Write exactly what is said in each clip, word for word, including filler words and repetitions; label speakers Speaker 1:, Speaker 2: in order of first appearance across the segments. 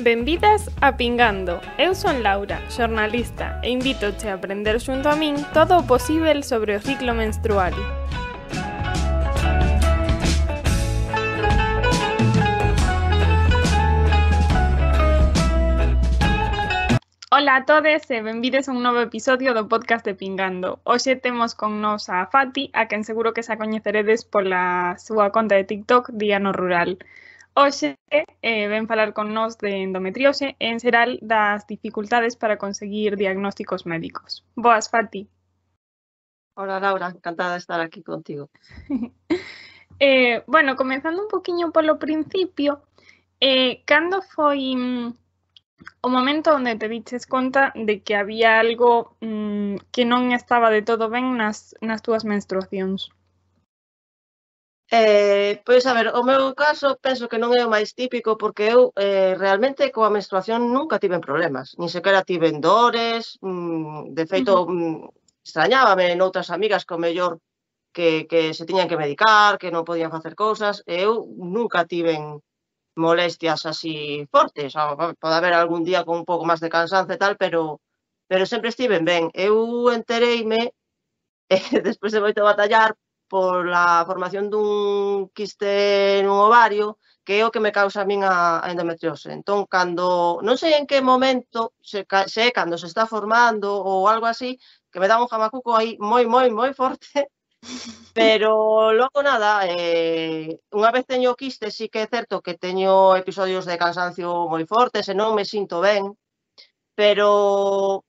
Speaker 1: Benvidas a Pingando. Eu son Laura, xornalista, e invítoche a aprender xunto a min todo o posíbel sobre o ciclo menstrual. Ola a todes e benvides a un novo episodio do podcast de Pingando. Hoxe temos con nos a Fati, a quen seguro que xa coñeceredes pola súa conta de TikTok Día no Rural. Hoxe eh, ven falar con nós de endometriose e en xeral das dificultades para conseguir diagnósticos médicos. Boas, Fati.
Speaker 2: Hola, Laura, encantada de estar aquí contigo.
Speaker 1: eh, bueno, comenzando un poquinho polo principio, eh, cando foi mm, o momento onde te diches conta de que había algo mm, que non estaba de todo ben nas, nas túas menstruacións?
Speaker 2: Eh, pois, a ver, o meu caso penso que non é o máis típico porque eu eh, realmente coa menstruación nunca tiven problemas, nin sequera tiven dores, mm, de feito
Speaker 1: Uh-huh.
Speaker 2: mm, extrañábame noutras amigas que o mellor que, que se tiñan que medicar, que non podían facer cousas, e eu nunca tiven molestias así fortes, o, pode haber algún día con un pouco máis de cansancio e tal, pero, pero sempre estiven ben. Eu entereime, eh, despois de moito batallar, pola formación dun quiste nun ovario, que é o que me causa a min a, a endometriose. Entón, cando, non sei en que momento, se, se é cando se está formando ou algo así, que me dá un jamacuco aí moi, moi, moi forte, pero logo nada, eh, unha vez teño quiste, sí que é certo que teño episodios de cansancio moi fortes e non me sinto ben, pero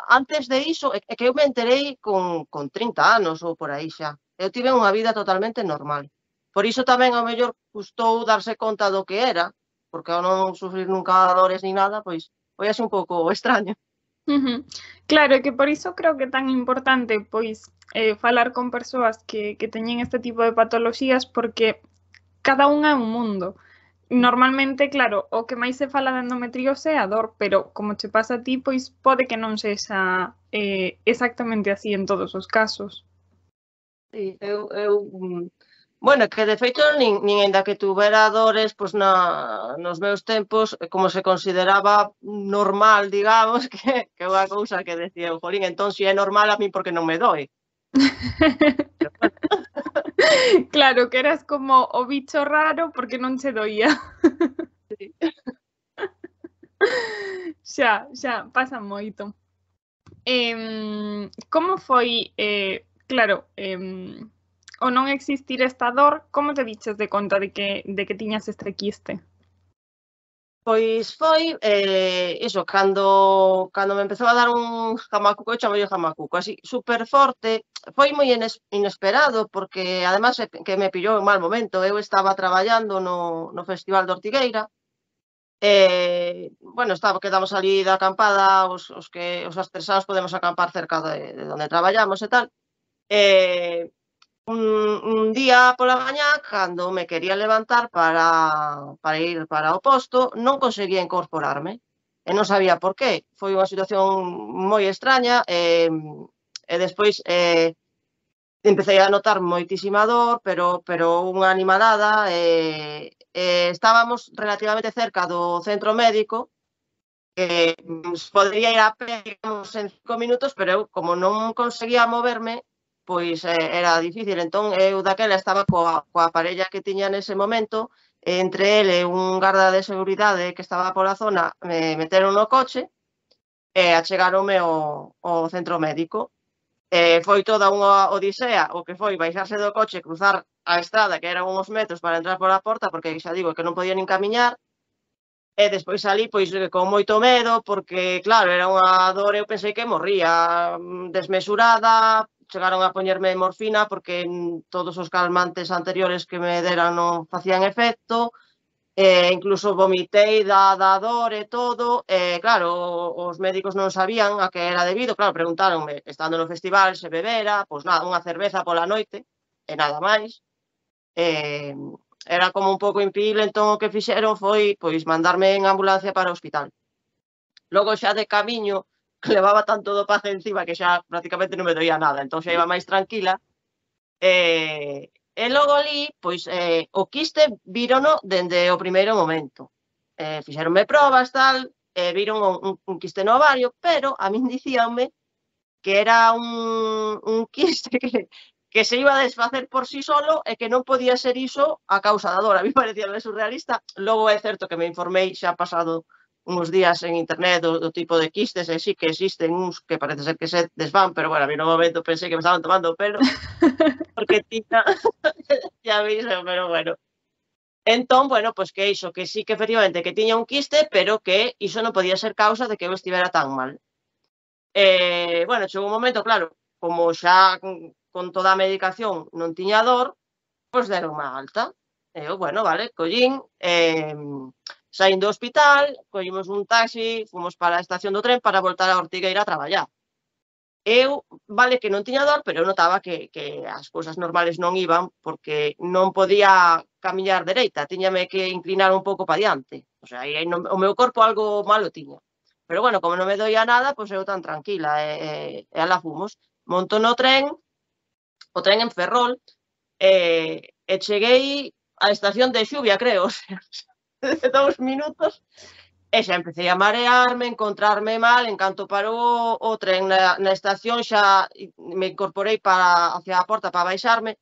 Speaker 2: antes de iso, é que eu me enterei con, con trinta anos ou por aí xa. Eu tive unha vida totalmente normal. Por iso tamén ao mellor custou darse conta do que era, porque ao non sufrir nunca dores ni nada, pois foi así un pouco extraño.
Speaker 1: Uh-huh. Claro, que por iso creo que é tan importante pois eh, falar con persoas que, que teñen este tipo de patoloxías, porque cada unha é un mundo. Normalmente, claro, o que máis se fala de endometriose é a dor, pero como che pasa a ti, pois pode que non sexa eh, exactamente así en todos os casos.
Speaker 2: Sí, eu, eu bueno, que de feito nin, nin ainda que tuvera dores, pois na, nos meus tempos, como se consideraba normal, digamos, que, que é unha cousa que decía, jolín, entón se é normal a mí porque non me doi. Pero, bueno.
Speaker 1: Claro, que eras como o bicho raro porque non che doía.
Speaker 2: Sí.
Speaker 1: Xa, xa, pasa moito. Eh, como foi, eh, claro, eh, o non existir esta dor, como te diches de conta de que, de que tiñas este quiste?
Speaker 2: Pois foi, eh, iso, cando, cando me empezou a dar un jamacuco, eu chamo yo jamacuco, así, super forte, foi moi inesperado, porque además que me pillou en mal momento, eu estaba traballando no, no Festival de Ortigueira, eh, bueno, estaba, quedamos ali da acampada, os, os que os astresados podemos acampar cerca de, de onde traballamos e tal, eh, Un, un día pola mañá, cando me quería levantar para, para ir para o posto, non conseguía incorporarme. E non sabía por qué. Foi unha situación moi extraña e, e despois eh, empecé a notar moitísima dor, pero, pero unha animalada. E, e estábamos relativamente cerca do centro médico, que podría ir a pé, digamos, en cinco minutos, pero eu, como non conseguía moverme, pois eh, era difícil. Entón, eu daquela estaba coa, coa parella que tiña nese momento, e entre ele un garda de seguridade que estaba pola zona, me meteron no coche e achegaronme ao, ao centro médico. E foi toda unha odisea, o que foi baixarse do coche, cruzar a estrada, que eran uns metros para entrar pola porta, porque xa digo que non podía nin camiñar, e despois salí pois con moito medo, porque claro, era unha dor, eu pensei que morría desmesurada, chegaron a poñerme morfina porque todos os calmantes anteriores que me deran non facían efecto, e incluso vomitei da, da dor e todo, e claro, os médicos non sabían a que era debido, claro, preguntáronme, estando no festival, se bebera, pois nada, unha cerveza pola noite, e nada máis, e era como un pouco impedible, entón o que fixeron foi pois mandarme en ambulancia para o hospital. Logo xa de camiño, levaba tanto do paje encima que xa prácticamente non me doía nada, entón xa iba máis tranquila. E, e logo ali, pois, eh, o quiste vírono dende o primeiro momento. eh, fixeronme probas, tal, e viron un, un, un quiste no ovario, pero a min dicíanme que era un, un quiste que, que se iba a desfacer por sí solo e que non podía ser iso a causa da dor. A mí parecía surrealista. Logo é certo que me informei xa pasado uns días en internet do, do tipo de quistes, e sí que existen uns que parece ser que se desvan, pero bueno, a mí no momento pensei que me estaban tomando o pelo, porque tiña, ya veis, pero bueno. Entón, bueno, pois que iso, que sí que efectivamente que tiña un quiste, pero que iso non podía ser causa de que eu estivera tan mal. Eh, bueno, chegou un momento, claro, como xa con, con toda a medicación non tiña dor, pois deron má alta. E eu, bueno, vale, collín, eh, saín do hospital, collimos un taxi, fomos para a estación do tren para voltar a Ortigueira a traballar. Eu, vale, que non tiña dor, pero eu notaba que, que as cousas normales non iban, porque non podía camiñar dereita, tiñame que inclinar un pouco para diante. O sea, aí no, o meu corpo algo malo tiña. Pero bueno, como non me doía nada, pois eu tan tranquila, e, e alá fomos. Monto no tren, o tren en Ferrol, e, e cheguei á estación de Xuvia, creo, o sea, dous minutos, e xa empecé a marearme, encontrarme mal, en canto parou o tren na, na estación xa me incorporei para, hacia a porta para baixarme,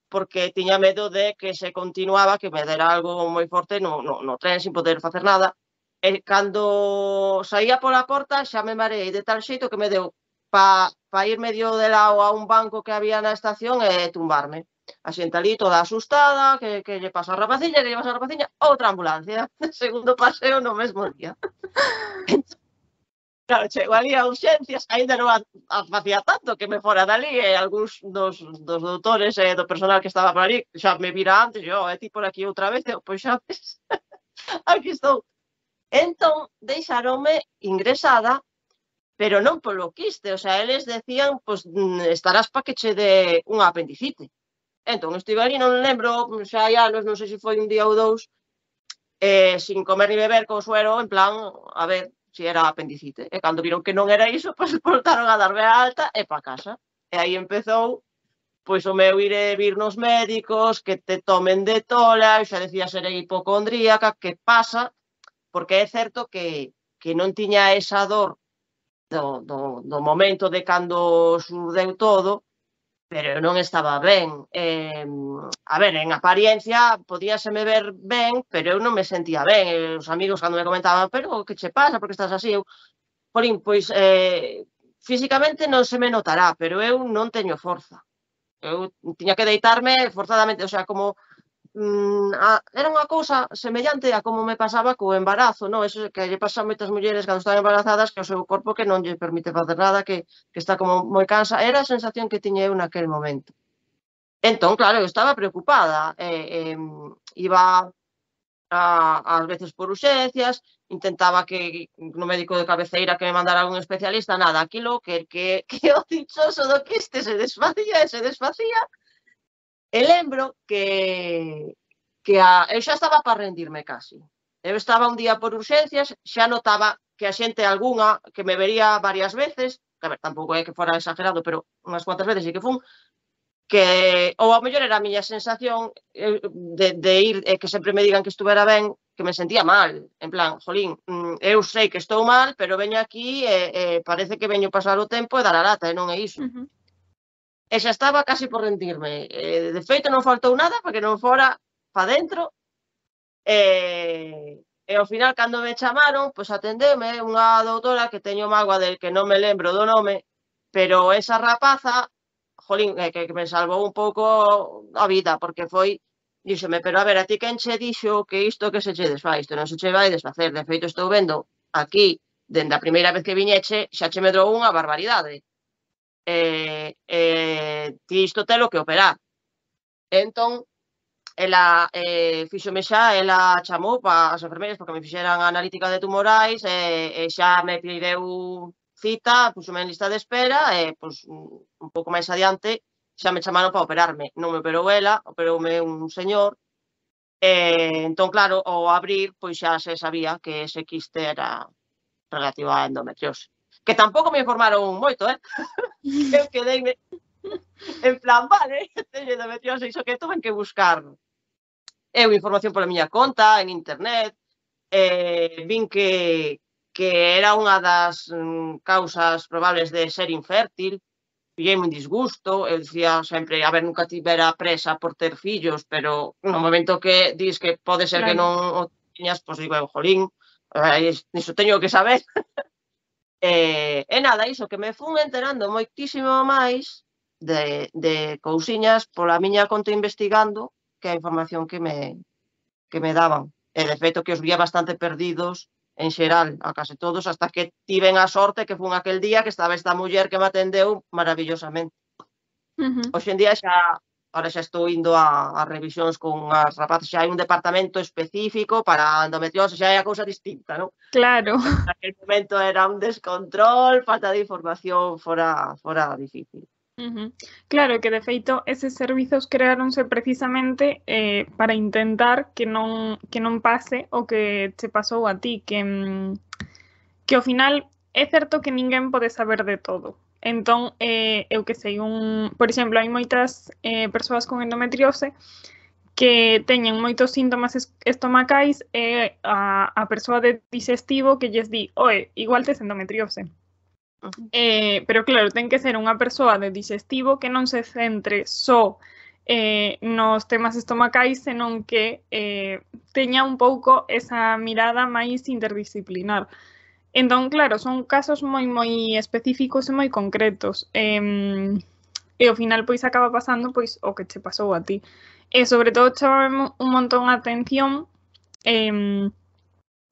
Speaker 2: porque tiña medo de que se continuaba, que me dera algo moi forte no, no, no tren sin poder facer nada. E cando saía pola porta xa me mareei de tal xeito que me deu para pa ir medio de lado a un banco que había na estación e tumbarme. A xente ali toda asustada, que, que lle pasa a rapaciña, que lle pasa a rapaciña, outra ambulancia. Segundo paseo no mesmo día. Claro, chego ali a urxencias, ainda non a, a facía tanto que me fora dali, e algúns dos, dos doutores e do personal que estaba por ali xa me vira antes, yo, e ti por aquí outra vez, eu, pois xa ves, aquí estou. Entón, deixaronme ingresada, pero non polo quiste, o sea, eles decían, pois, estarás pa que che dé unha apendicite. Entón, estive ali, non lembro, xa hai anos, non sei se foi un día ou dous, eh, sin comer ni beber, co suero, en plan, a ver, si era apendicite. E cando viron que non era iso, pois voltaron a darme a alta e pa casa. E aí empezou, pois, o meu ir e vir nos médicos, que te tomen de tola, xa decía ser hipocondríaca, que pasa, porque é certo que, que non tiña esa dor do, do, do momento de cando surdeu todo, pero non estaba ben. Eh, a ver, en apariencia podíaseme ver ben, pero eu non me sentía ben. E os amigos cando me comentaban, pero que che pasa, porque estás así? Eu, Polín, pois, eh, físicamente non se me notará, pero eu non teño forza. Eu tiña que deitarme forzadamente, o sea, como Mm, a, era unha cousa semellante a como me pasaba co embarazo, no? Eso que lle pasa a moitas mulleres cando están embarazadas, que o seu corpo que non lle permite facer nada, que, que está como moi cansa. Era a sensación que tiña eu naquel momento. Entón, claro, eu estaba preocupada. Eh, eh, iba a, ás veces por urxencias, intentaba que no médico de cabeceira que me mandara algún especialista, nada, aquilo que, que, que o dichoso do quiste se desfacía e se desfacía. E lembro que, que a, eu xa estaba para rendirme casi. Eu estaba un día por urxencias, xa notaba que a xente algunha, que me vería varias veces, que a ver, tampouco é que fora exagerado, pero unhas cuantas veces sí que fun, que, ou ao mellor era a miña sensación de, de ir, e que sempre me digan que estuvera ben, que me sentía mal, en plan, jolín, eu sei que estou mal, pero veño aquí e, e parece que veño pasar o tempo e dar a lata, e non é iso. Uh-huh. E xa estaba casi por rendirme. Eh, de feito, non faltou nada para que non fora para dentro. E, e ao final, cando me chamaron, pois atendeume unha doutora que teño mágoa del que non me lembro do nome, pero esa rapaza, jolín, que, que me salvou un pouco a vida, porque foi, díxome, pero a ver, a ti quen che dixo que isto que se che desfai, isto non se che vai desfacer. De feito, estou vendo aquí, dende a primeira vez que viñeche, xa che medrou unha barbaridade. Eh, eh, ti isto telo que operar. Entón, ela eh, fixome xa, ela chamou para as enfermeiras porque me fixeran a analítica de tumorais e, e xa me pideu cita, puxome en lista de espera e pois, un pouco máis adiante xa me chamaron para operarme. Non me operou ela, operoume un señor. E, entón, claro, ao abrir, pois xa se sabía que ese quiste era relativo á endometriose. Que tampouco me informaron moito, eh? Eu quedeime en plan, vale, teño endometriose, iso que tuve que buscar eu información pola miña conta, en internet, eh, vin que, que era unha das mm, causas probables de ser infértil, pillei un disgusto, eu dicía sempre, a ver, nunca tivera presa por ter fillos, pero no momento que dis que pode ser que
Speaker 1: Claro.
Speaker 2: non o tiñas, pois digo, eu, jolín, eh, iso teño que saber. E, e nada, iso, que me fun enterando moitísimo máis de, de cousiñas pola miña conta investigando que a información que me, que me daban. E de feito que os vía bastante perdidos en xeral, a case todos, hasta que tiven a sorte que fun aquel día que estaba esta muller que me atendeu maravillosamente.
Speaker 1: Uh-huh.
Speaker 2: Hoxe en día xa, ahora xa estou indo a, a revisións con as rapaces, xa hai un departamento específico para endometriose, xa é a cousa distinta, non?
Speaker 1: Claro.
Speaker 2: En aquel momento era un descontrol, falta de información, fora, fora difícil.
Speaker 1: Uh-huh. Claro, que de feito eses servizos creáronse precisamente eh, para intentar que non, que non pase o que che pasou a ti, que, que ao final é certo que ninguén pode saber de todo. Entón, eh, eu que sei, un, por exemplo, hai moitas eh, persoas con endometriose que teñen moitos síntomas estomacais e a, a persoa de digestivo que lles di, oe, igual tes endometriose.
Speaker 2: Uh-huh.
Speaker 1: Eh, pero claro, ten que ser unha persoa de digestivo que non se centre só eh, nos temas estomacais, senón que eh, teña un pouco esa mirada máis interdisciplinar. Entón, claro, son casos moi moi específicos e moi concretos. Eh, e ao final pois acaba pasando pois o que che pasou a ti. E sobre todo chamame un montón a atención eh,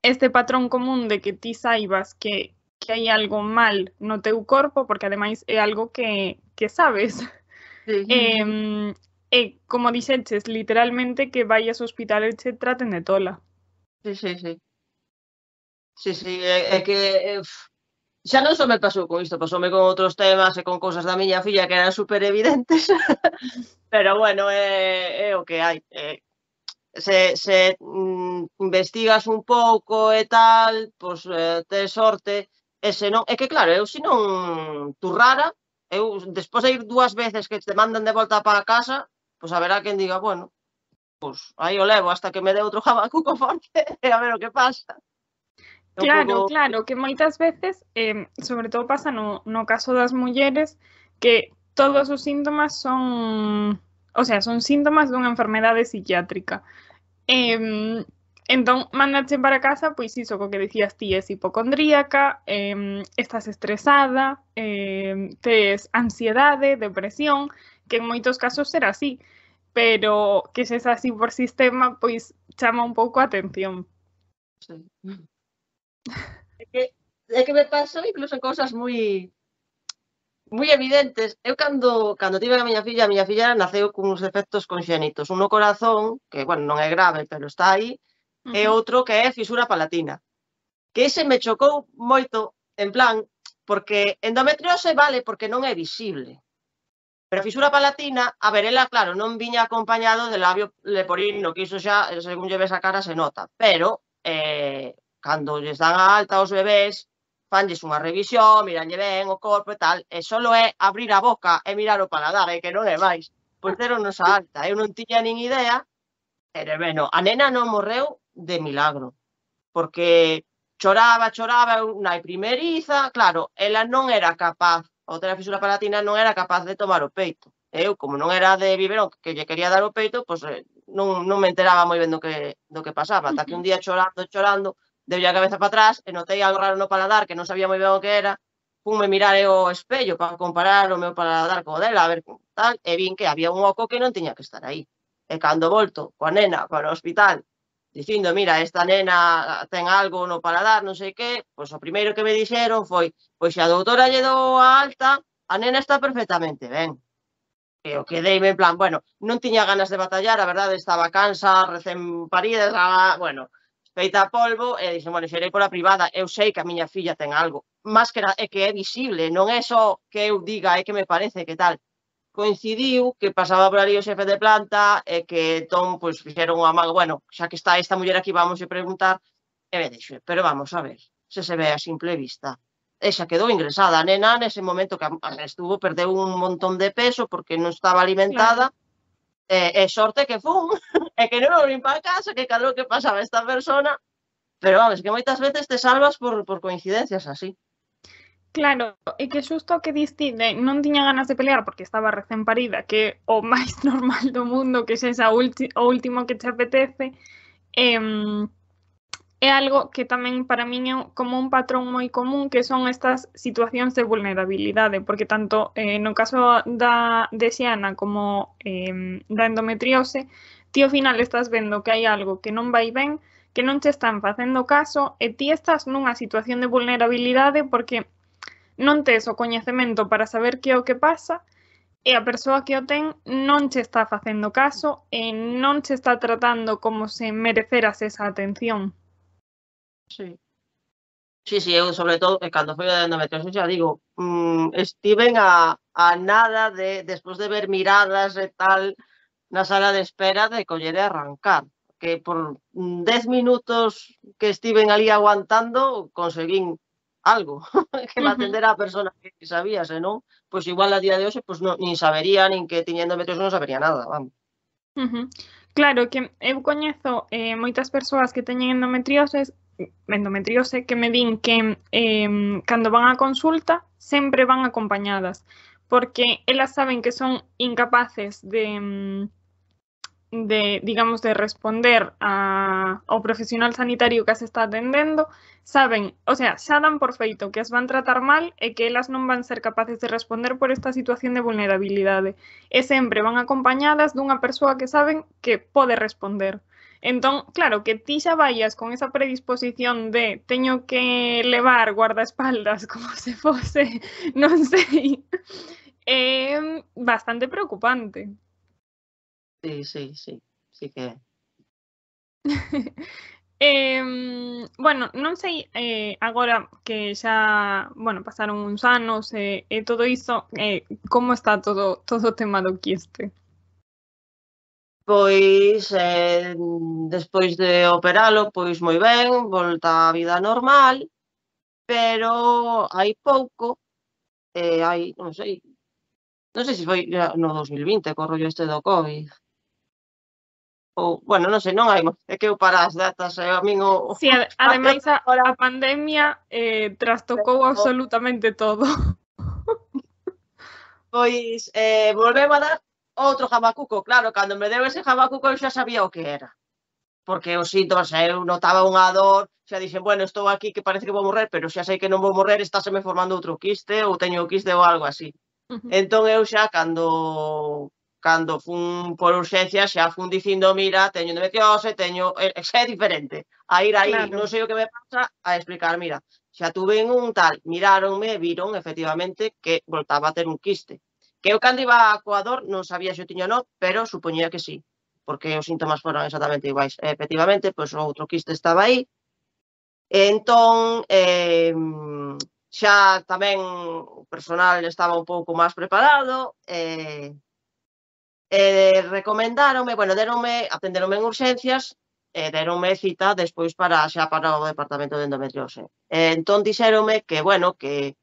Speaker 1: este patrón común de que ti saibas que, que hai algo mal no teu corpo, porque ademais é algo que, que sabes.
Speaker 2: Sí.
Speaker 1: Eh, e como dixeches, literalmente que vayas ao hospital e che traten de tola.
Speaker 2: Sí, sí, sí. Sí, sí, é, é que eh, xa non só me pasou con isto, pasoume con outros temas e con cousas da miña filla que eran super evidentes, pero bueno, é, é o que hai. É, se se mm, investigas un pouco e tal, pois eh, tes sorte, e se non, é que claro, eu se non turrara, eu despois de ir dúas veces que te mandan de volta para casa, pois haberá quen diga, bueno, pois aí o levo hasta que me dé outro jamacuco forte e a ver o que pasa.
Speaker 1: Claro, claro, que moitas veces, eh, sobre todo pasa no, no caso das mulleres, que todos os síntomas son, o sea, son síntomas dunha enfermedade psiquiátrica. Eh, entón, mándache para casa, pois iso, co que decías ti, es hipocondríaca, eh, estás estresada, eh, tes ansiedade, depresión, que en moitos casos será así, pero que se es así por sistema, pois chama un pouco a atención.
Speaker 2: Sí. É que, é que me pasou incluso cousas moi moi evidentes. Eu cando, cando tive a miña filla, a miña filla naceu con uns defectos conxénitos. Un no corazón, que, bueno, non é grave, pero está aí, uh-huh. E outro que é fisura palatina. Que ese me chocou moito, en plan, porque endometriose vale porque non é visible. Pero fisura palatina, a ver, ela, claro, non viña acompañado de labio leporino, que iso xa, según lle ves a cara, se nota. Pero, eh, cando lles dan a alta aos bebés, fanlles unha revisión, miranlle ben o corpo e tal, e só é abrir a boca e mirar o paladar, e que non é máis. Pois deron-nos a alta, eu non tiña nin idea, pero, bueno, a nena non morreu de milagro, porque choraba, choraba, unha primeriza, claro, ela non era capaz, ao ter a fisura palatina non era capaz de tomar o peito. Eu, como non era de biberón que lle quería dar o peito, pois non, non me enteraba moi ben do que, do que pasaba, ata que un día chorando, chorando, deulle a cabeza para atrás e notei algo raro no paladar que non sabía moi ben o que era, funme mirar o espello para comparar o meu paladar co dela, a ver tal, e vin que había un oco que non tiña que estar aí. E cando volto coa nena para o hospital, dicindo, mira, esta nena ten algo no paladar, non sei que, pois o primeiro que me dixeron foi, pois se a doutora lle dou a alta, a nena está perfectamente ben. E eu quedeime en plan, bueno, non tiña ganas de batallar, a verdade, estaba cansa, recén parida, estaba, bueno, feita polvo, e dixen, bueno, xerei pola privada, eu sei que a miña filla ten algo, máis que é que é visible, non é só que eu diga, é que me parece que tal. Coincidiu que pasaba por ali o xefe de planta e que entón, pois, fixeron unha mago, bueno, xa que está esta muller aquí, vamos a preguntar, e me dixo, pero vamos a ver, se se ve a simple vista. E xa quedou ingresada, a nena nese momento que estuvo, perdeu un montón de peso porque non estaba alimentada, claro. e, e sorte que fun, e que non me vim para casa, que cadro que pasaba esta persona, Pero vamos, que moitas veces te salvas por, por coincidencias así.
Speaker 1: Claro, e que xusto o que diste de non tiña ganas de pelear porque estaba recén parida, que é o máis normal do mundo, que xa o último que te apetece, eh, é algo que tamén para min é como un patrón moi común, que son estas situacións de vulnerabilidade, porque tanto eh, no caso da de Xiana como eh, da endometriose, ti ao final estás vendo que hai algo que non vai ben, que non te están facendo caso, e ti estás nunha situación de vulnerabilidade porque non tes o coñecemento para saber que é o que pasa e a persoa que o ten non che está facendo caso e non che está tratando como se mereceras esa atención.
Speaker 2: Sí. Sí, sí, eu sobre todo, cando foi a endometriosis, xa digo, mmm, estiven a, a nada de, despois de ver miradas e tal, na sala de espera, de coller e arrancar. Que por dez minutos que estiven ali aguantando, conseguín algo, que me atendera a persona que sabía, senón, pois igual a día de hoxe, pois non, nin sabería, nin que tiña endometriosis, non sabería nada, vamos.
Speaker 1: Uh -huh. Claro, que eu coñezo eh, moitas persoas que teñen endometriose, endometriose que me din que eh, cando van a consulta sempre van acompañadas, porque elas saben que son incapaces de... de, digamos, de responder a, ao profesional sanitario que as está atendendo, saben, o sea, xa dan por feito que as van tratar mal e que elas non van ser capaces de responder por esta situación de vulnerabilidade. E sempre van acompañadas dunha persoa que saben que pode responder. Entón, claro, que ti xa vayas con esa predisposición de teño que levar guardaespaldas como se fose, non sei, é bastante preocupante.
Speaker 2: Sí, sí, sí, sí que é.
Speaker 1: eh, bueno, non sei eh, agora que xa, bueno, pasaron uns anos e eh, eh, todo iso, eh, como está todo todo o tema do quiste?
Speaker 2: Pois, eh, despois de operalo, pois moi ben, volta á vida normal, pero hai pouco, eh, hai, non sei, non sei se foi no dos mil vinte, co rollo este do COVID. Ou, bueno, non sei, non hai, é que eu para as datas, e a min o...
Speaker 1: Sí, ad ademais a, a pandemia eh, trastocou absolutamente todo.
Speaker 2: Pois, eh, volveu a dar outro jamacuco, claro, cando me deu ese jamacuco eu xa sabía o que era. Porque os síntomas, eu notaba unha dor, xa dixen, bueno, estou aquí que parece que vou morrer, pero xa sei que non vou morrer, estáseme formando outro quiste, ou teño quiste ou algo así. Uh -huh. Entón eu xa, cando cando fun por urxencia, xa fun dicindo, mira, teño endometriose, teño... Xa é diferente. A ir aí, claro, non sei o que me pasa, a explicar, mira, xa tuve un tal, miráronme, viron, efectivamente, que voltaba a ter un quiste. Que eu cando iba coa dor non sabía se o tiño non, pero supoñía que sí, porque os síntomas foron exactamente iguais. E, efectivamente, pois o outro quiste estaba aí. Entón, eh, xa tamén o personal estaba un pouco máis preparado, e, e recomendáronme, bueno, deronme, atenderonme en urxencias, e deronme cita despois para xa para o departamento de endometriose. E, entón dixéronme que, bueno, que,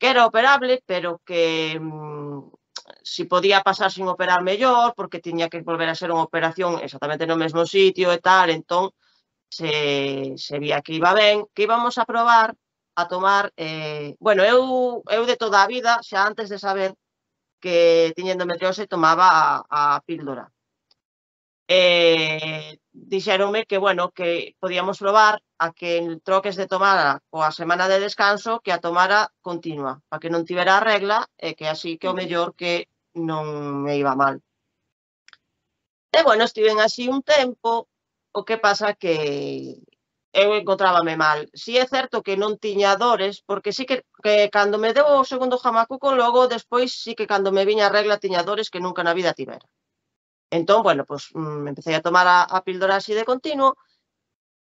Speaker 2: que era operable, pero que mmm, si podía pasar sin operar mellor, porque tiña que volver a ser unha operación exactamente no mesmo sitio e tal, entón se, se vía que iba ben, que íbamos a probar a tomar, eh, bueno, eu, eu de toda a vida, xa antes de saber que tiña endometriose, tomaba a, a píldora. Eh, dixéronme que, bueno, que podíamos probar a que en troques de tomara coa semana de descanso, que a tomara continua, para que non tivera a regla, e que así que o mellor que non me iba mal. E, bueno, estiven así un tempo, o que pasa que eu encontrábame mal. Si é certo que non tiña dores, porque sí que, que cando me deu o segundo jamacuco, logo despois sí que cando me viña a regla tiña dores que nunca na vida tivera. Entón, bueno, pois pues, empecé a tomar a, a píldora así de continuo,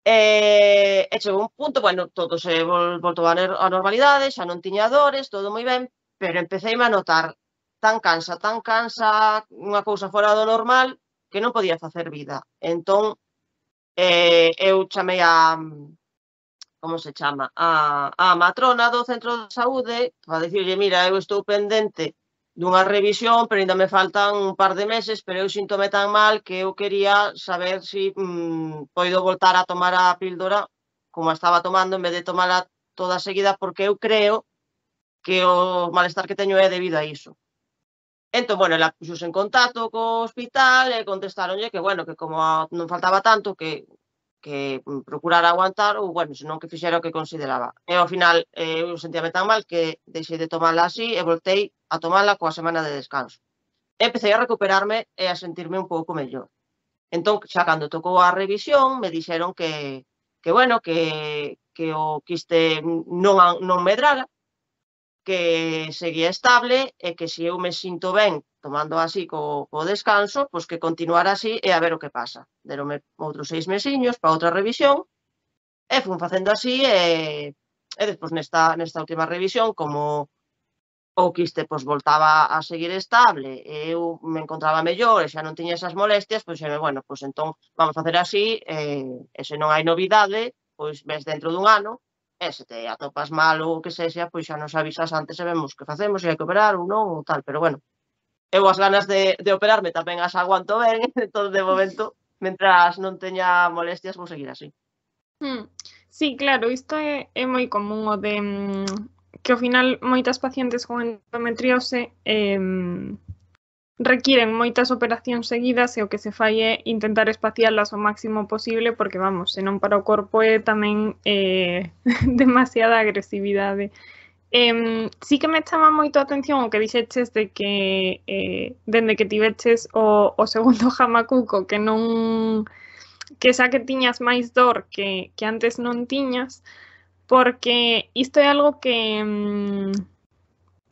Speaker 2: e, e chegou un punto, bueno, todo se vol, voltou a, a normalidade, xa non tiña dores, todo moi ben, pero empecéime a notar tan cansa, tan cansa, unha cousa fora do normal, que non podía facer vida. Entón, eh, eu chamei a, como se chama, a, a matrona do centro de saúde para dicirlle, mira, eu estou pendente dunha revisión, pero ainda me faltan un par de meses, pero eu síntome tan mal que eu quería saber se si, mm, poido voltar a tomar a píldora como a estaba tomando, en vez de tomala toda seguida, porque eu creo que o malestar que teño é debido a iso. Entón, bueno, ela puxose en contacto co hospital e contestaronlle que, bueno, que como non faltaba tanto, que que procurara aguantar ou, bueno, senón que fixera o que consideraba. E ao final eh, eu sentíame tan mal que deixei de tomala así e voltei a tomala coa semana de descanso. E empecé a recuperarme e a sentirme un pouco mellor. Entón, xa cando tocou a revisión, me dixeron que, que bueno, que, que o quiste non, non medrara, que seguía estable e que se eu me sinto ben tomando así co, co descanso, pois que continuara así e a ver o que pasa. Deronme outros seis mesiños para outra revisión e fun facendo así e, e despois nesta, nesta última revisión, como o quiste pois voltaba a seguir estable e eu me encontraba mellor e xa non tiña esas molestias, pois xeme, bueno, pois entón vamos facer así e, e se non hai novidade, pois ves dentro dun ano e se te atopas mal ou o que sexa, pois xa nos avisas antes e vemos que facemos, se hai que operar ou non ou tal, pero bueno, eu as ganas de, de operarme tamén as aguanto ben, entón de momento, mentras non teña molestias, vou seguir así.
Speaker 1: Hmm. Sí, claro, isto é, é moi común o de mm, que ao final moitas pacientes con endometriose eh, requiren moitas operacións seguidas e o que se fai é intentar espacialas o máximo posible porque, vamos, senón para o corpo é tamén eh, demasiada agresividade. Eh, sí que me chama moito a atención o que dixeches de que eh, dende que tiveches o, o segundo jamacuco que non que xa que tiñas máis dor que, que antes non tiñas, porque isto é algo que mm,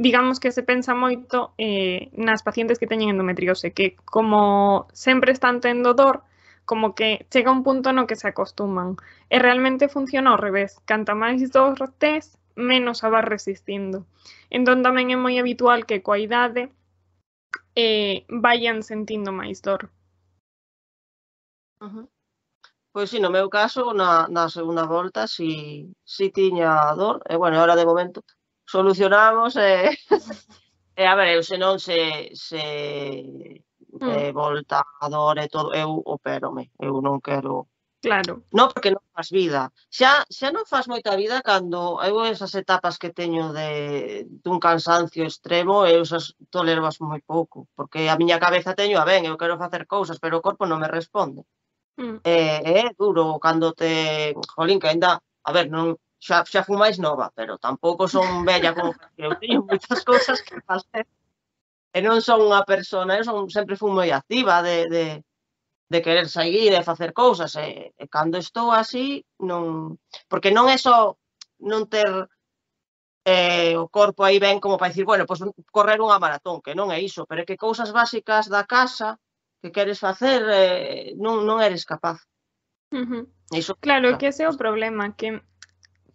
Speaker 1: digamos que se pensa moito eh, nas pacientes que teñen endometriose, que como sempre están tendo dor, como que chega un punto no que se acostuman. E realmente funciona ao revés. Canta máis dor tes, menos a vas resistindo. Entón tamén é moi habitual que coa idade eh, vayan sentindo máis dor.
Speaker 2: Uh-huh. Pois si, no meu caso, na, na segunda volta, si, si tiña dor, e bueno, ahora de momento solucionamos e, e a ver, eu se non se, se
Speaker 1: Mm,
Speaker 2: eh, volta a dor e todo, eu opérome, eu non quero...
Speaker 1: claro.
Speaker 2: Non, porque non faz vida. Xa, xa non faz moita vida cando eu esas etapas que teño de dun cansancio extremo, eu esas toleroas moi pouco, porque a miña cabeza teño a ben, eu quero facer cousas, pero o corpo non me responde.
Speaker 1: Mm,
Speaker 2: E é duro cando te... Jolín, que ainda... A ver, non, xa, xa fui máis nova, pero tampouco son bella como que eu teño moitas cousas que facer. E non son unha persona, eu son, sempre fui moi activa de, de, de querer sair e facer cousas. E, e cando estou así, non... Porque non é só non ter eh, o corpo aí ben como para dicir, bueno, pois correr unha maratón, que non é iso, pero é que cousas básicas da casa que queres facer eh, non, non eres capaz.
Speaker 1: uh-huh.
Speaker 2: Iso,
Speaker 1: Claro,
Speaker 2: claro.
Speaker 1: que ese é o problema, que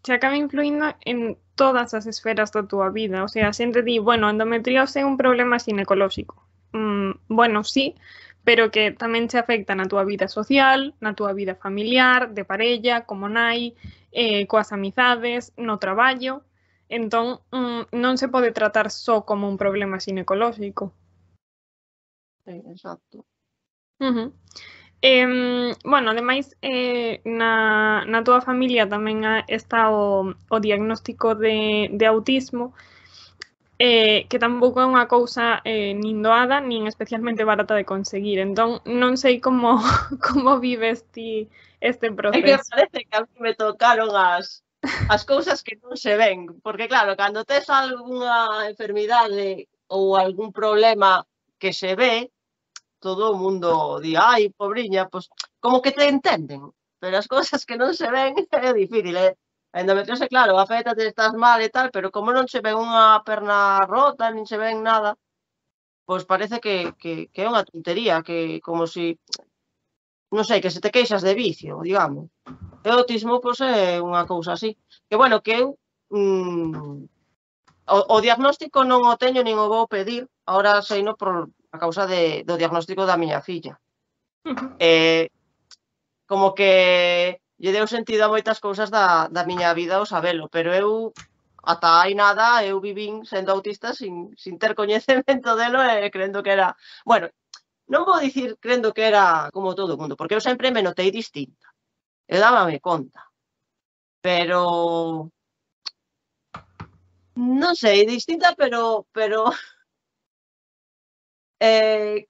Speaker 1: se acaba influindo en todas as esferas da túa vida. O sea, a xente di, bueno, endometriose é un problema ginecolóxico. Mm, bueno, sí, pero que tamén se afecta na túa vida social, na túa vida familiar, de parella, como nai, eh, coas amizades, no traballo. Entón, mm, non se pode tratar só como un problema ginecolóxico.
Speaker 2: Sí, exacto.
Speaker 1: Uh-huh. Eh, bueno, ademais, eh, na, na túa familia tamén está o, o diagnóstico de, de autismo, eh, que tampouco é unha cousa eh, nin doada, nin especialmente barata de conseguir. Entón, non sei como, como vives ti este
Speaker 2: É que
Speaker 1: proceso.
Speaker 2: parece que a mí me tocaron as, as cousas que non se ven. Porque claro, cando tes algunha enfermidade ou algún problema que se ve, todo o mundo di, ai, pobriña, pois como que te entenden, pero as cousas que non se ven é difícil, eh? A endometriose, claro, afecta, te estás mal e tal, pero como non se ven unha perna rota, nin se ven nada, pois parece que, que, que é unha tontería, que como si, non sei, que se te queixas de vicio, digamos. E o autismo, pois é unha cousa así. Que bueno, que eu, mm, o, o diagnóstico non o teño, nin o vou pedir, agora seino por a causa de, do diagnóstico da miña filla.
Speaker 1: Uh-huh.
Speaker 2: Eh, como que lle deu sentido a moitas cousas da, da miña vida o sabelo, pero eu, ata hai nada, eu vivín sendo autista sin, sin ter coñecemento delo e crendo que era... Bueno, non vou dicir crendo que era como todo o mundo, porque eu sempre me notei distinta. Eu dábame conta. pero non sei, distinta, pero pero eh,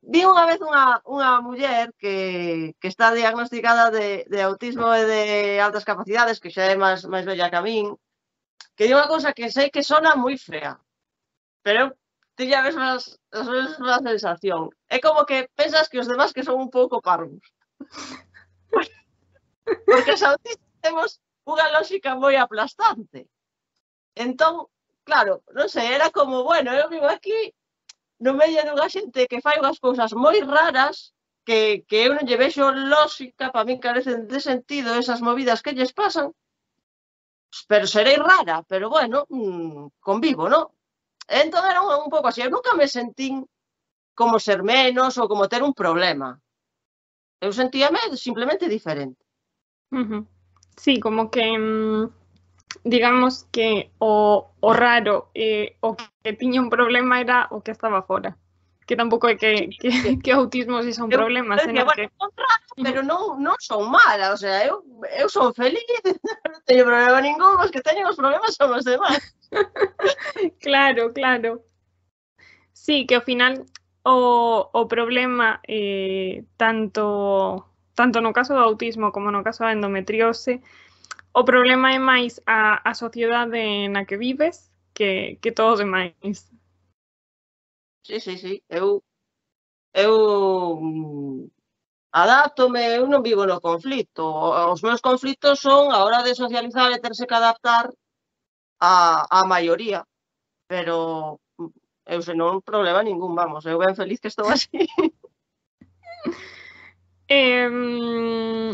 Speaker 2: vi unha vez unha, unha muller que, que está diagnosticada de, de autismo e de altas capacidades, que xa é máis, máis bella que a min, que di unha cousa que sei que sona moi fea, pero tiña a mesma, a mesma sensación. É como que pensas que os demás que son un pouco parvos. Porque os autistas temos unha lógica moi aplastante. Entón, claro, non sei, era como, bueno, eu vivo aquí no medio dunha xente que fai unhas cousas moi raras que, que eu non lle vexo lógica, para min carecen de sentido esas movidas que lles pasan, pero serei rara, pero bueno, mmm, convivo, non? Entón era un, un pouco así, eu nunca me sentín como ser menos ou como ter un problema. Eu sentíame simplemente diferente.
Speaker 1: Uh-huh. Sí, como que mmm, digamos que o, o raro eh, o que tiña un problema era o que estaba fora. Que tampouco é que, que, que autismo si son
Speaker 2: eu,
Speaker 1: problemas,
Speaker 2: eu decía,
Speaker 1: senón
Speaker 2: bueno,
Speaker 1: que...
Speaker 2: son rara, pero non, non son mala, o sea, eu, eu son feliz, non teño problema ningún, os que teñen os problemas son os demás.
Speaker 1: Claro, claro. Sí, que ao final o, o problema eh, tanto, tanto no caso do autismo como no caso da endometriose, o problema é máis a, a sociedade na que vives que, que todo o demais.
Speaker 2: Sí, sí, sí, eu, eu adáptome, eu non vivo no conflito. Os meus conflitos son a hora de socializar e terse que adaptar a, a maioría, pero eu senón problema ningún, vamos, eu ben feliz que estou así.
Speaker 1: Eh,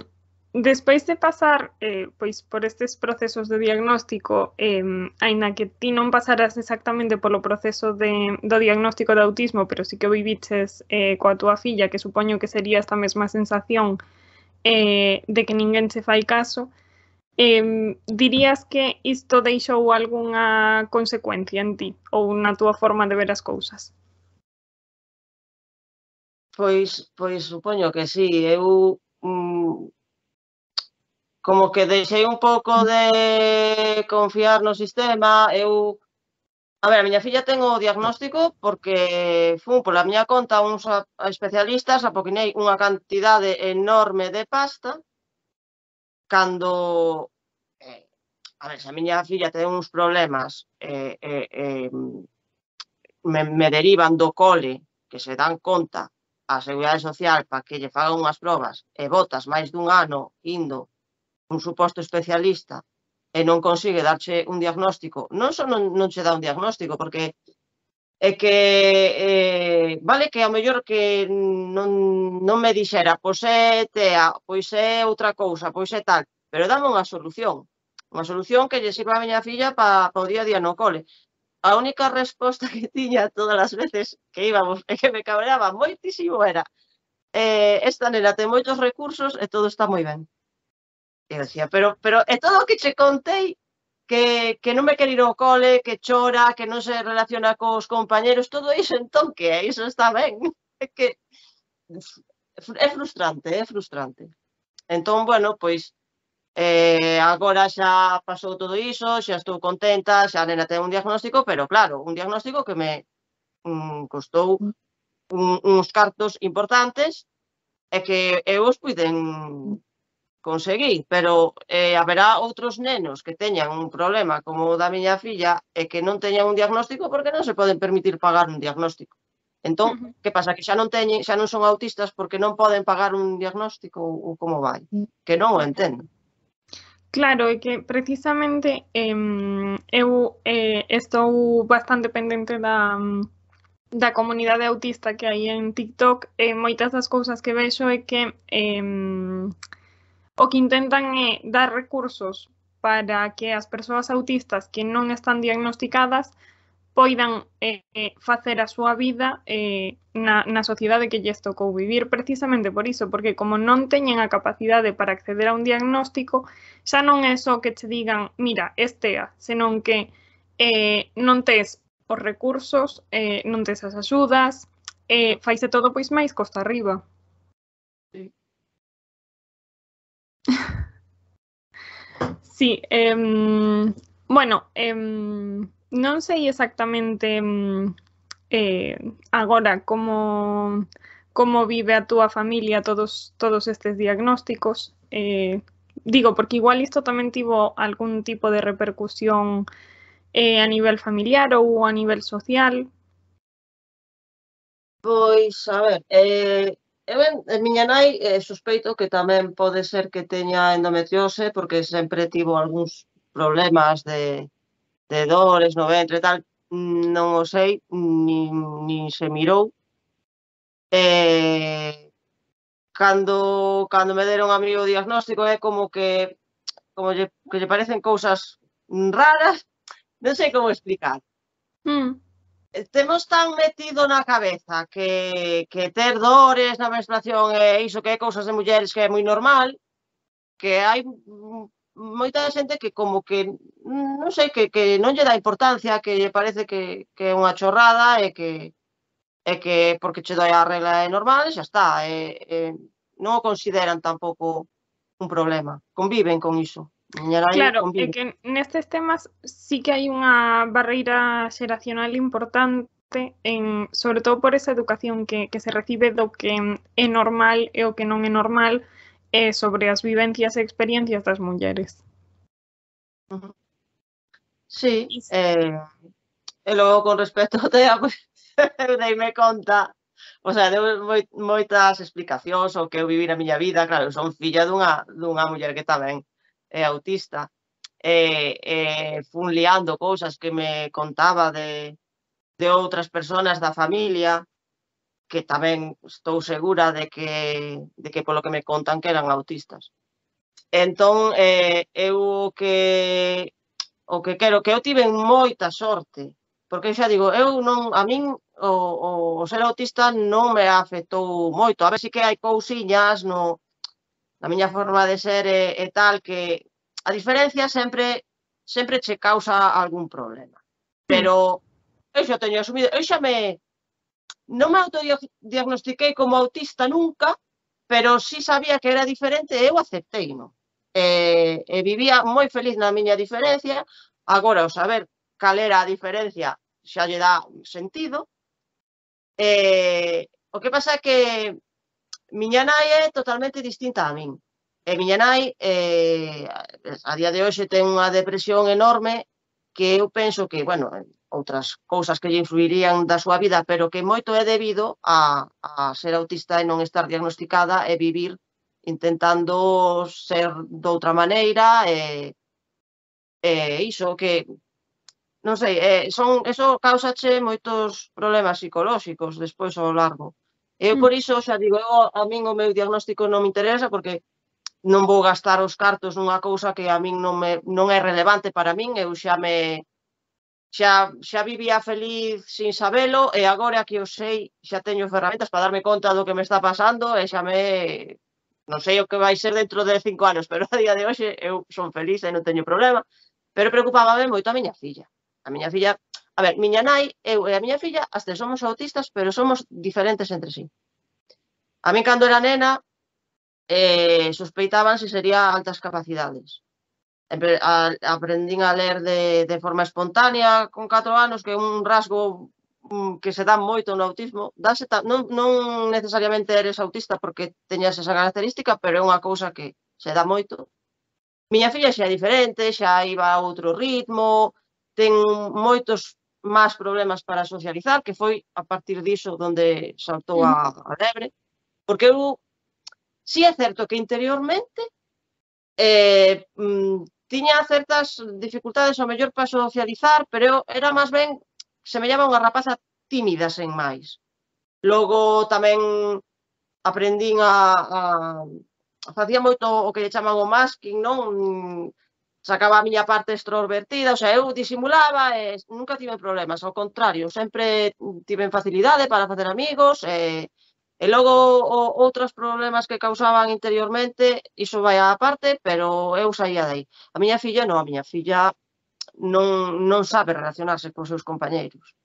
Speaker 1: despois de pasar eh, pois por estes procesos de diagnóstico, eh, aínda que ti non pasaras exactamente polo proceso de, do diagnóstico de autismo, pero sí que o viviches eh, coa túa filla, que supoño que sería esta mesma sensación eh, de que ninguén se fai caso, eh, dirías que isto deixou algunha consecuencia en ti ou na túa forma de ver as cousas?
Speaker 2: Pois, pois supoño que sí, eu mm, como que deixei un pouco de confiar no sistema, eu a ver, a miña filla ten o diagnóstico porque fun pola miña conta uns a, a especialistas, apoquinei unha cantidade enorme de pasta, cando, eh, a ver, se a miña filla ten uns problemas, eh, eh, eh, me, me derivan do cole, que se dan conta a Seguridade Social para que lle fagan unhas probas e botas máis dun ano indo un suposto especialista e non consigue darche un diagnóstico, non só non, non che dá un diagnóstico, porque é que eh, vale que ao mellor que non, non me dixera pois é TEA, pois é outra cousa, pois é tal, pero dame unha solución, unha solución que lle sirva a miña filla para pa o día a día no cole. A única resposta que tiña todas as veces que íbamos e que me cabreaba moitísimo era eh, esta nena ten moitos recursos e todo está moi ben. E eu decía, pero, pero é todo o que che contei que, que non me quere ir ao cole, que chora, que non se relaciona cos compañeros, todo iso, entón que é, iso está ben. É que é frustrante, é frustrante. Entón, bueno, pois eh, agora xa pasou todo iso, xa estou contenta, xa a nena ten un diagnóstico, pero claro, un diagnóstico que me mm, costou un, uns cartos importantes e que eu os puiden conseguir, pero eh, haberá outros nenos que teñan un problema como o da miña filla e que non teñan un diagnóstico porque non se poden permitir pagar un diagnóstico. Entón,
Speaker 1: Uh-huh.
Speaker 2: que pasa? Que xa non teñen, xa non son autistas porque non poden pagar un diagnóstico ou como vai? Que non o entendo.
Speaker 1: Claro, é que precisamente eh, eu eh, estou bastante pendente da, da comunidade autista que hai en TikTok e moitas das cousas que vexo é que eh, o que intentan é dar recursos para que as persoas autistas que non están diagnosticadas poidan eh, facer a súa vida eh, na, na sociedade que lles tocou vivir, precisamente por iso, porque como non teñen a capacidade para acceder a un diagnóstico, xa non é só que che digan, mira, estea, senón que eh, non tes os recursos, eh, non tes as axudas, eh, faise todo pois máis costa arriba.
Speaker 2: Sí.
Speaker 1: Sí, em, bueno, em, non sei exactamente em, eh, agora como, como vive a túa familia todos, todos estes diagnósticos. Eh, digo, porque igual isto tamén tivo algún tipo de repercusión eh, a nivel familiar ou a nivel social.
Speaker 2: Pois, a ver, eh, eu en, en miña nai eh, sospeito que tamén pode ser que teña endometriose porque sempre tivo algúns problemas de, de dores no ventre e tal, non o sei, nin, nin se mirou. Eh, cando, cando me deron a mí o diagnóstico é como que, como lle, que lle parecen cousas raras, non sei como explicar.
Speaker 1: Mm.
Speaker 2: Temos tan metido na cabeza que, que ter dores na menstruación é iso que é cousas de mulleres que é moi normal, que hai moita xente que como que, non sei, que, que non lle dá importancia, que lle parece que, que é unha chorrada e que, e que porque che doi a regla é normal e xa está. E, e non o consideran tampouco un problema. Conviven con iso. Miña nai
Speaker 1: Claro, é
Speaker 2: convive.
Speaker 1: que nestes temas sí que hai unha barreira xeracional importante, en, sobre todo por esa educación que, que se recibe do que é normal e o que non é normal eh, sobre as vivencias e experiencias das mulleres.
Speaker 2: Uh -huh. Sí,
Speaker 1: Y...
Speaker 2: eh, e logo con respecto ao TEA, pois, eu deime conta, o sea, deu moi, moitas explicacións o que eu vivi na miña vida. Claro, eu son filla dunha, dunha muller que tamén é autista, e, e fun liando cousas que me contaba de, de outras persoas da familia, que tamén estou segura de que, de que polo que me contan que eran autistas. Entón, eh, eu o que, o que quero, que eu tiven moita sorte, porque xa digo, eu non, a min o, o, o ser autista non me afectou moito. A ver si que hai cousiñas no, na miña forma de ser e, e tal, que a diferencia sempre sempre che causa algún problema. Pero eu xa teño asumido, eu xa me, non me autodiagnostiquei como autista nunca, pero sí sabía que era diferente e eu aceptei, non? E, e vivía moi feliz na miña diferencia. Agora, o saber cal era a diferencia xa lle dá sentido. E, o que pasa é que miña nai é totalmente distinta a min. E miña nai, eh, a día de hoxe, ten unha depresión enorme que eu penso que, bueno, outras cousas que lle influirían da súa vida, pero que moito é debido a, a ser autista e non estar diagnosticada e vivir intentando ser doutra maneira e, e iso que, non sei, eh, son, eso causache moitos problemas psicolóxicos despois ao largo. Eu por iso xa digo, eu, a min o meu diagnóstico non me interesa porque non vou gastar os cartos nunha cousa que a min non, me, non é relevante para min. Eu xa me xa, xa vivía feliz sin sabelo e agora que o sei xa teño ferramentas para darme conta do que me está pasando e xa me, non sei o que vai ser dentro de cinco anos, pero a día de hoxe eu son feliz e non teño problema. Pero preocupábame moito a miña filla. A miña filla, a ver, miña nai, eu e a miña filla, as tres somos autistas, pero somos diferentes entre sí. A min, cando era nena, eh, sospeitaban se sería altas capacidades. A, aprendín a ler de, de forma espontánea con catro anos, que é un rasgo que se dá moito no autismo. Dase, non, non necesariamente eres autista porque teñas esa característica, pero é unha cousa que se dá moito. Miña filla xa é diferente, xa iba a outro ritmo, ten moitos máis problemas para socializar, que foi a partir diso onde saltou a, a lebre, porque eu, si é certo que interiormente eh, mm, tiña certas dificultades ao mellor para socializar, pero eu era máis ben, se me llama unha rapaza tímida sen máis. Logo tamén aprendín a, a facía moito o que lle chaman o masking, non? Sacaba a miña parte extrovertida, o sea, eu disimulaba e nunca tive problemas, ao contrario, sempre tiven facilidade para facer amigos e, e logo o, outros problemas que causaban interiormente, iso vai á parte, pero eu saía dai. A miña filla non, a miña filla non, non sabe relacionarse con seus compañeiros.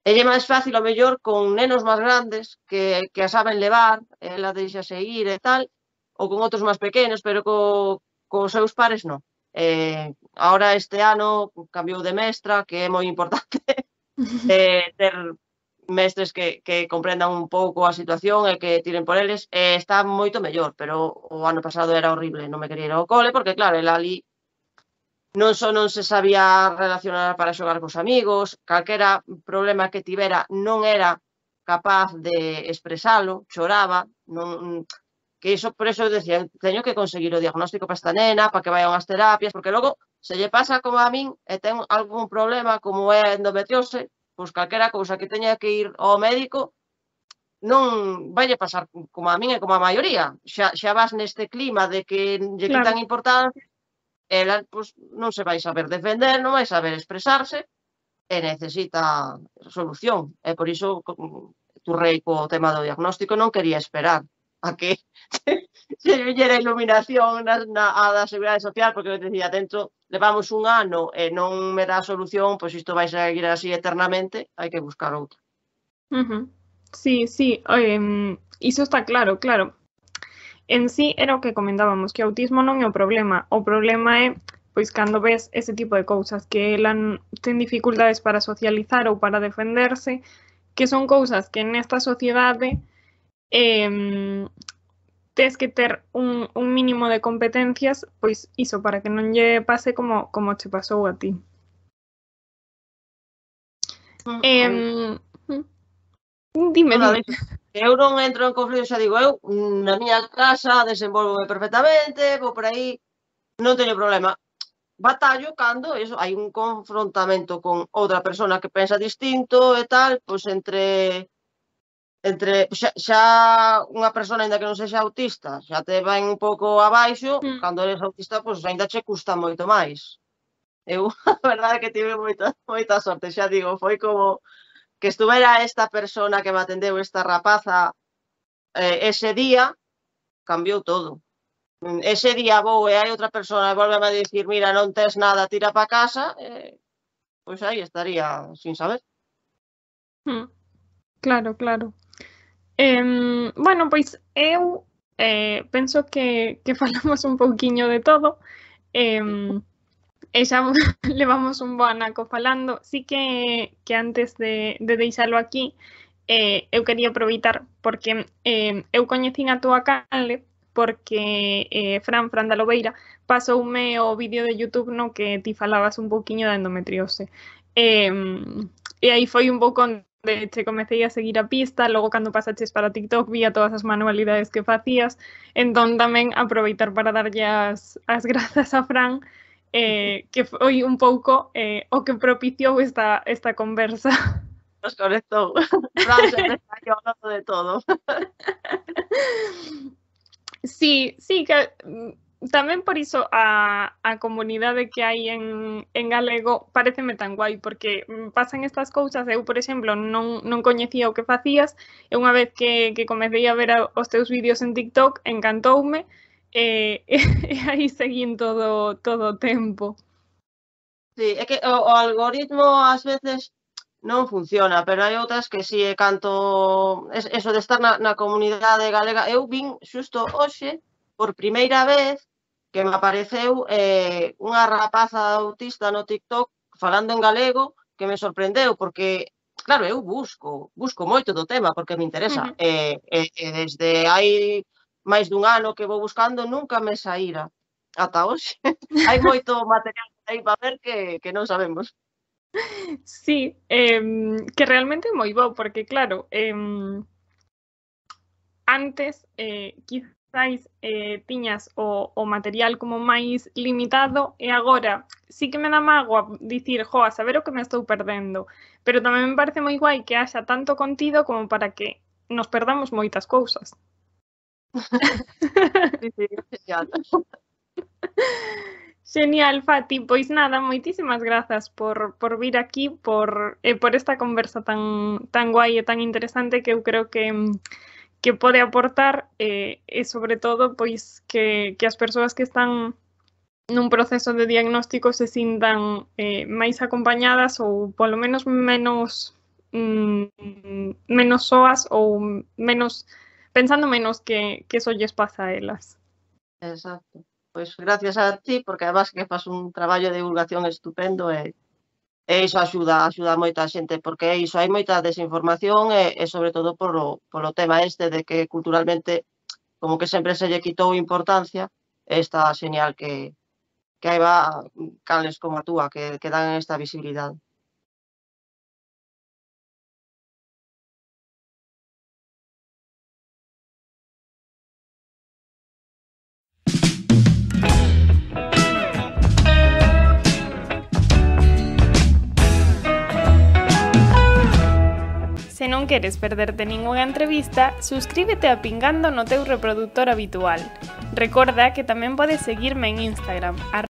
Speaker 2: Ella é máis fácil, ao mellor, con nenos máis grandes que, que a saben levar, ela deixase ir e tal, ou con outros máis pequenos, pero co, cos seus pares non. Eh, ahora este ano cambiou de mestra, que é moi importante eh, ter mestres que, que comprendan un pouco a situación e que tiren por eles, eh, está moito mellor, pero o ano pasado era horrible, non me quería ir ao cole, porque claro, el ali non só non se sabía relacionar para xogar cos amigos, calquera problema que tivera non era capaz de expresalo, choraba, non, que iso, por eso decía, teño que conseguir o diagnóstico para esta nena, para que vayan ás terapias, porque logo, se lle pasa como a min e ten algún problema como é endometriose, pois calquera cousa que teña que ir ao médico, non vaille pasar como a min e como a maioría. Xa, xa vas neste clima de que lle
Speaker 1: Claro.
Speaker 2: quitan importancia, ela pois, non se vai saber defender, non vai saber expresarse, e necesita solución. E por iso turrei co tema do diagnóstico, non quería esperar a que se viñera a iluminación na, na, a da Seguridade Social, porque eu decía, dentro, levamos un ano e non me dá solución, pois isto vai seguir así eternamente, hai que buscar outro.
Speaker 1: Uh-huh. Sí, sí, um, iso está claro, claro. En sí era o que comentábamos, que o autismo non é o problema, o problema é pois cando ves ese tipo de cousas, que ela ten dificultades para socializar ou para defenderse, que son cousas que nesta sociedade eh, tes que ter un, un mínimo de competencias, pois iso, para que non lle pase como, como che pasou a ti.
Speaker 2: Mm,
Speaker 1: Eh, dime,
Speaker 2: Nada,
Speaker 1: dime.
Speaker 2: Eu non entro en conflito, xa digo, eu na miña casa desenvolvo perfectamente, vou por aí, non teño problema. Batallo cando eso, hai un confrontamento con outra persona que pensa distinto e tal, pois entre entre xa, xa unha persona aínda que non sexa autista, xa te vai un pouco abaixo,
Speaker 1: Mm.
Speaker 2: cando eres autista, pois aínda che custa moito máis. Eu, a verdade é que tive moita, moita sorte, xa digo, foi como que estuvera esta persona que me atendeu, esta rapaza, eh, ese día, cambiou todo. Ese día vou e hai outra persona e volve a dicir, mira, non tes nada, tira para casa, eh, pois aí estaría sin saber.
Speaker 1: Mm. Claro, claro. Eh, bueno, pois eu eh, penso que, que falamos un pouquiño de todo. Eh, e xa levamos un bo anaco falando. Sí que, que antes de, de deixalo aquí, eh, eu quería aproveitar porque eh, eu coñecín a túa canle porque eh, Fran, Fran da Lobeira, pasoume o vídeo de YouTube no que ti falabas un pouquiño da endometriose. Eh, e aí foi un pouco onde che comecei a seguir a pista, logo cando pasaches para TikTok vía todas as manualidades que facías, entón tamén aproveitar para darlle as, as grazas a Fran, eh, que foi un pouco eh, o que propiciou esta, esta conversa.
Speaker 2: Nos conectou. Fran sempre está aquí hablando de todo.
Speaker 1: Sí, sí, que tamén por iso a, a comunidade que hai en, en galego pareceme tan guai, porque pasan estas cousas, eu, por exemplo, non, non coñecía o que facías, e unha vez que, que comecei a ver a, os teus vídeos en TikTok, encantoume, e, e, e aí seguín todo, todo o tempo.
Speaker 2: Sí, é que o, o algoritmo ás veces non funciona, pero hai outras que si, sí, canto eso de estar na, na comunidade galega, eu vin xusto hoxe, por primeira vez, que me apareceu eh, unha rapaza autista no TikTok falando en galego, que me sorprendeu, porque, claro, eu busco, busco moito do tema, porque me interesa, uh-huh. e, e, e desde hai máis dun ano que vou buscando, nunca me saíra ata hoxe. Hai moito material aí para ver que, que non sabemos.
Speaker 1: Sí, eh, que realmente é moi bo, porque claro, eh, antes eh, quizáis eh, tiñas o, o material como máis limitado e agora sí que me dá mágoa dicir, jo, a saber o que me estou perdendo, pero tamén me parece moi guai que haxa tanto contido como para que nos perdamos moitas cousas.
Speaker 2: Sí, sí, genial.
Speaker 1: Genial, Fati. Pois nada, moitísimas grazas por, por vir aquí, por, eh, por esta conversa tan, tan guai e tan interesante que eu creo que, que pode aportar eh, e sobre todo pois que, que as persoas que están nun proceso de diagnóstico se sintan eh, máis acompañadas ou polo menos menos mm, menos soas ou menos pensando menos que, que eso lles pasa a elas.
Speaker 2: Exacto. Pois gracias a ti, porque además que fas un traballo de divulgación estupendo e e iso axuda, axuda a moita xente, porque é iso, hai moita desinformación e e sobre todo polo polo tema este de que culturalmente como que sempre se lle quitou importancia, e está xeñal que que hai va canles como a túa que que dan esta visibilidade.
Speaker 1: Se non queres perderte ningunha entrevista, suscríbete a Pingando no teu reproductor habitual. Recorda que tamén podes seguirme en Instagram,